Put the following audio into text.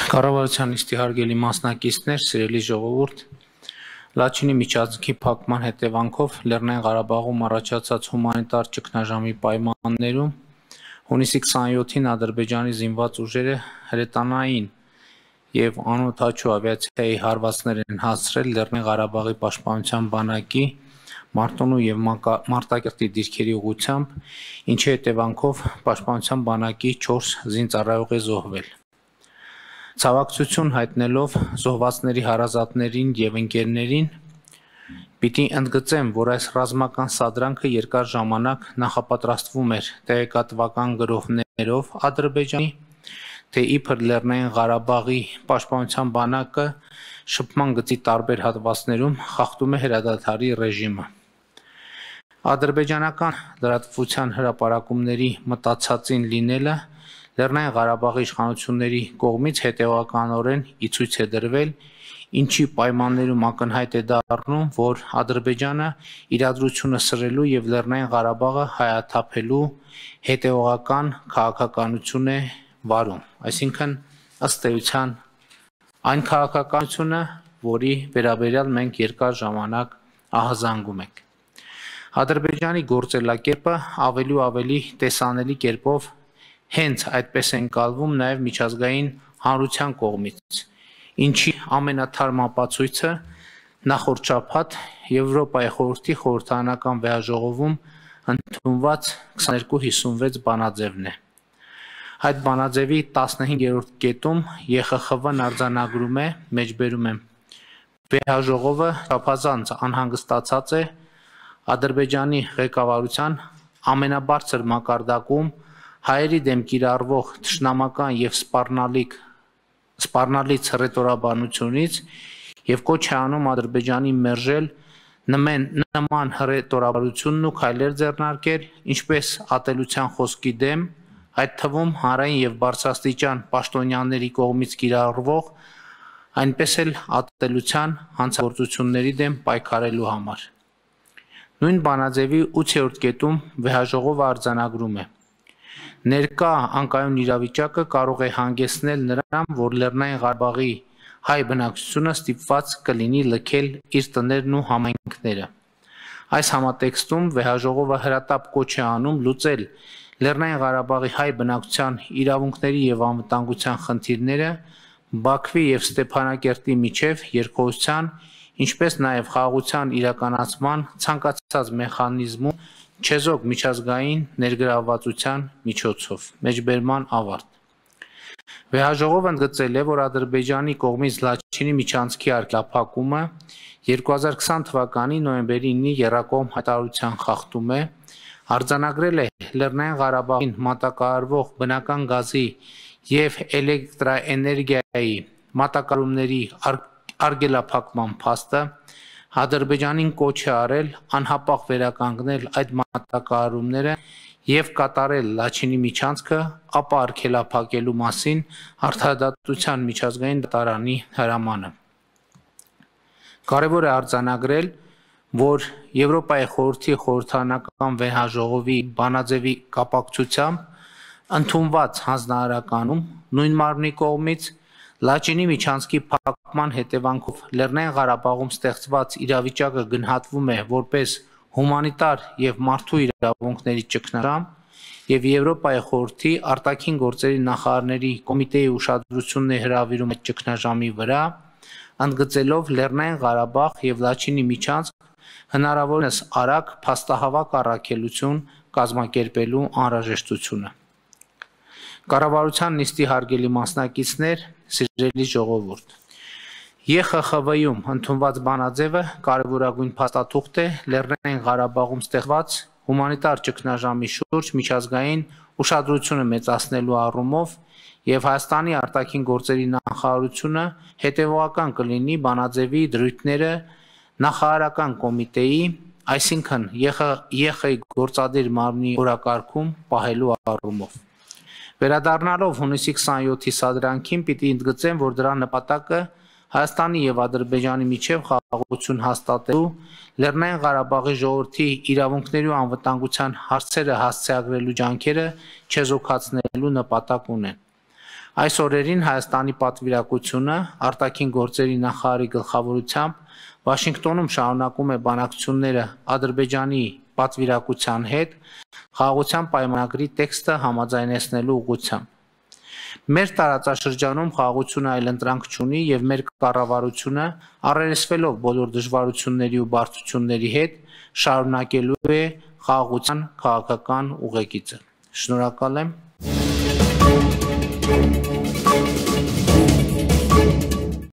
Կառավարության նիստի հարգելի մասնակիցներ, սիրելի ժողովուրդ, Լաչինի միջանցքի փակման հետևանքով Լեռնային Ղարաբաղում առաջացած հումանիտար ճգնաժամի պայմաններում հունիսի 27-ին Ադրբեջանի զինված ուժերը հրետանային եւ անօդաչու ավիացիայի հարվածներ են հասցրել Լեռնային Ղարաբաղի պաշտպանության բանակի Մարտունու եւ Մարտակերտի դիրքերի ուղղությամբ, ինչի հետևանքով պաշտպանության բանակի 4 զինծառայող է զոհվել։ Ցավակցություն հայտնելով զոհվածների հարազատներին եւ ընկերներին, պիտի ընդգծեմ, որ այս ռազմական սադրանքը երկար ժամանակ նախապատրաստվում էր տեղեկատվական գրոհներով Ադրբեջանի, թե իբր Լեռնային Ղարաբաղի պաշտպանության բանակը շփման գծի տարբեր հատվածներում խախտում է հրադադարի ռեժիմը։ Ադրբեջանական լրատվության հրապարակումների մտածածին լինելը Լեռնային Ղարաբաղի իշխանությունների կողմից հետևականորեն ի ցույց է դրվել, ինչի պայմաններում ակնհայտ է դառնում, որ Ադրբեջանը իրադրությունը սրելու եւ Լեռնային Ղարաբաղը հայաթափելու հետևողական քաղաքականություն է վարում, այսինքն ըստ էության այն քաղաքականությունը, որի վերաբերյալ մենք երկար ժամանակ ահազանգում ենք։ Ադրբեջանի գործելակերպը ավելի ու ավելի տեսանելի կերպով հենց այդպես են կալվում նաև միջազգային հանրության կողմից, ինչի ամենաթարմ ապացույցը նախորդ շաբաթ Եվրոպայի խորհրդի խորհրդարանական վեհաժողովում ընդունված 2256 բանաձևն է։ Այդ բանաձևի 15-րդ կետում ԵԽԽՎ-ն արձանագրում է, մեջբերում եմ, վեհաժողովը չափազանց անհանգստացած է Ադրբեջանի ղեկավարության ամենաբարձր մակարդակում հայերի դեմ կիրառվող թշնամական եւ սպառնալից հռետորաբանությունից եւ կոչ է անում Ադրբեջանի մերժել նման հռետորաբանությունն ու քայլեր ձեռնարկել, ինչպես ատելության խոսքի դեմ, այդ թվում հանրային եւ բարձրաստիճան պաշտոնյաների կողմից կիրառվող, այնպես էլ ատելության հանցագործությունների դեմ պայքարելու համար։ Նույն բանաձևի 8-րդ կետում վեհաժողովը արձանագրում է. Ներկա անկայուն իրավիճակը կարող է հանգեցնել նրան, որ Լեռնային Ղարաբաղի հայ բնակչությունը ստիպված կլինի լքել իր տներն ու համայնքները։ Այս համատեքստում վեհաժողովը հրատապ կոչ է անում լուծել Լեռնային Ղարաբաղի հայ բնակչության իրավունքների եւ անվտանգության խնդիրները Բաքվի եւ Ստեփանակերտի միջև երկխոսության, ինչպես նաև խաղաղության իրականացման ցանկացած մեխանիզմում չեզոք միջազգային ներգրավվածության միջոցով։ Մեջբերման ավարտ։ Վեհաժողովը ընդգծել է, որ Ադրբեջանի կողմից Լաչինի միջանցքի արգելափակումը 2020 թվականի նոյեմբերի 9-ի եռակողմ հայտարարության խախտում է, արձանագրել է Լեռնային Ղարաբաղին մատակարարվող բնական գազի եւ էլեկտրաէներգիայի մատակարարումների արգելափակման փաստը, Ադրբեջանին կոչ է արել անհապաղ վերականգնել այդ մատակարարումները եւ կատարել Լաչինի միջանցքը, ապա արգելափակելու մասին Արդարադատության միջազգային դատարանի հրամանը։ Կարևոր է արձանագրել, որ Եվրոպայի խորհրդի խորհրդարանական վեհաժողովի բանաձևի կապակցությամբ ընդունված հանձնարարականում նույն մարմնի կողմից Լաչինի միջանցքի փակման հետևանքով Լեռնային Ղարաբաղում ստեղծված իրավիճակը գնահատվում է որպես հումանիտար եւ մարդու իրավունքների ճգնաժամ եւ Եվրոպայի խորհրդի արտաքին գործերի նախարարների կոմիտեի ուշադրությունն է հրավիրում այդ ճգնաժամի վրա, ընդգծելով Լեռնային Ղարաբաղ եւ Լաչինի միջանցք հնարավորինս արագ փաստահավաք առաքելություն կազմակերպելու անհրաժեշտությունը։ Կառավարության նիստի հարգելի մասնակիցներ, սիրելի ժողովուրդ, ԵԽԽՎ-ում ընդունված բանաձևը կարևորագույն փաստաթուղթ է Լեռնային Ղարաբաղում ստեղծված հումանիտար ճգնաժամի շուրջ միջազգային ուշադրությունը մեծացնելու առումով եւ Հայաստանի արտաքին գործերի նախարարությունը հետեւողական կլինի բանաձևի դրույթները նախարարական կոմիտեի, այսինքն ԵԽ գործադիր մարմնի օրակարգում պահելու առումով։ Վերադառնալով հունիսի 27-ի սադրանքին պիտի ընդգծեմ, որ դրա նպատակը Հայաստանի եւ Ադրբեջանի միջև խաղաղություն հաստատելու, Լեռնային Ղարաբաղի ժողովրդի իրավունքների ու անվտանգության հարցերը հասցեագրելու ջանքերը չեզոքացնելու նպատակ ունեն։ Այս օրերին Հայաստանի պատվիրակությունը արտաքին գործերի նախարարի գլխավորությամբ Վաշինգտոնում շարունակում է բանակցությունները Ադրբեջանի պատվիրակության հետ խաղաղության պայմանագրի տեքստը համաձայնեցնելու ուղղությամբ։ Մեր տարածաշրջանում խաղաղությունը այլընտրանք չունի եւ մեր կառավարությունը առերեսվելով բոլոր դժվարությունների ու բարդությունների հետ շարունակելու է խաղաղության քաղաքական ուղեկիցը։ Շնորհակալ եմ։